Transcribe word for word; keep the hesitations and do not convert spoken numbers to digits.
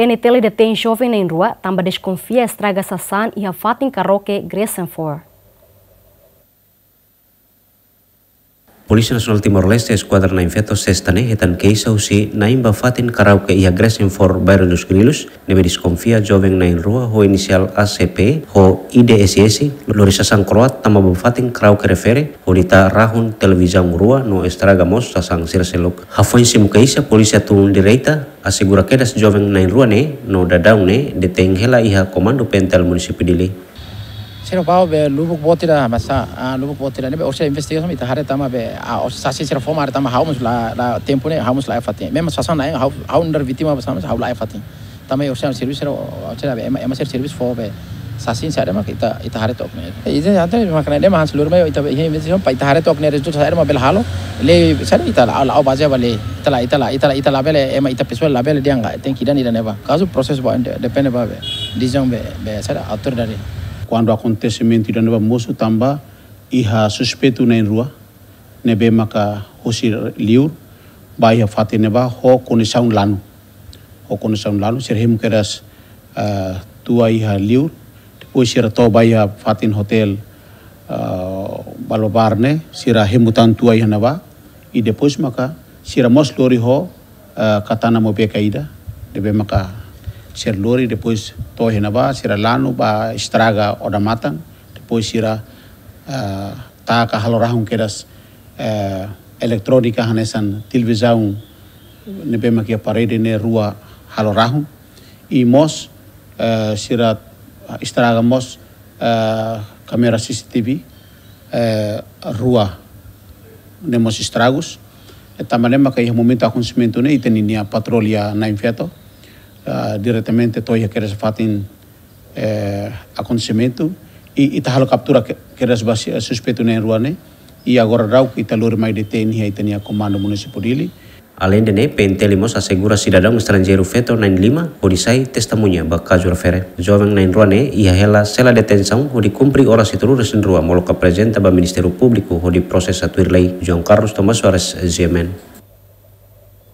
PNTL detein joven na'in-rua tanba deskonfia estraga sasán iha fatin karaoke Gressenford. Polísia Nasionál Timor-Leste, Eskuadra na'in-feto, sesta ne'e hetan keixa husi na'in ba fatin karaoke iha Gressenford, Bairro dos Grilos, ne'ebé deskonfia joven na'in-rua ho inisiál A C P ho I D S S lori sasán kroat tama ba fatin karaoke refere, hodi tau rahun televizaun rua no estraga mós sasán sira seluk. Hafoin simu keixa, polísia tun direta asegura kedas joven na'in-rua ne'e no daudaun ne'e detein hela iha Komandu PNTL Munisípiu Dili. Sira bá be lubuk boot ida, masa, ah, lubuk boot ida ne'ebé orsida investigasaun ita haree tanba be, ah, orsida sasin sira fó mai tanba ha'u mós la, la tempu ne'e, ha'u mós laiha fatin. Memang sasán na'in, ha'u, ha'u nu'udar vítima ba sasán, ha'u laiha fatin. Tanba orsida servisu sira, orsida be, ema, ema sira servisu fó be sasin sira mak ita, ita haree took ne'e. Ita ante makna ne'e mak hanesan lurma ita be, iha investigasaun, ba ita haree took ne'e rezultadu saida mak bele halo. Lei, saida ita la, la, la bazeia ba lei. Ita la, ita la, ita la, ita labele, ema ita pesoál labele dehan ka, tenke ida-ne'e ida-ne'ebá. Kazu prosesu ba, de-, depende ba be, desizaun be, be, saida, autoridade. Kuandu akontesimentu ida-ne'ebá mosu tanba iha suspeitu na'in-rua, ne'ebé maka husi liur, bá iha fatin ne'ebá, ho kondisaun lanu. Ho kondisaun lanu, sira hemu kedas, eh, tua iha liur, depois sira to'o bá iha fatin hotel, eh, Balobar ne'e, sira hemu tan tua iha ne'ebá, i depois maka sira mós lori ho, eh, katana mobeka ida, ne'ebé maka sira lori, depois to'o iha ne'ebá, sira lanu bá estraga odamatan, depois sira, eh, taka halo rahun kedas, eh, eletrónika hanesan televizaun ne'ebé mak iha parede ne'e rua halo rahun. I mós, eh, sira estraga mós, eh, kámara C C T V, eh, rua ne'e mós estragus. I tanba ne'e maka iha momentu akontesimentu ne'e ita-nia patrulha na'in-feto, eh, diretamente to'o iha kedas fatin, eh, akontesimentu, i ita halo kaptura ke-, kedas ba si-, suspeitu na'in-rua ne'e, i agora daudaun ita lori mai detein iha ita-nia Komandu Munisípiu Dili. Aleinde ne'e, PNTL mós asegura sidadaun estranjeiru feto na'in-lima, hodi sai testemuña ba kazu refere. Joven na'in-rua ne'e iha hela sela detensaun hodi kumpre oras hitunulu-resin-rua molok aprezenta ba Ministériu Públiku hodi prosesa tuir lei. João Carlos Tomás Soares, G M N.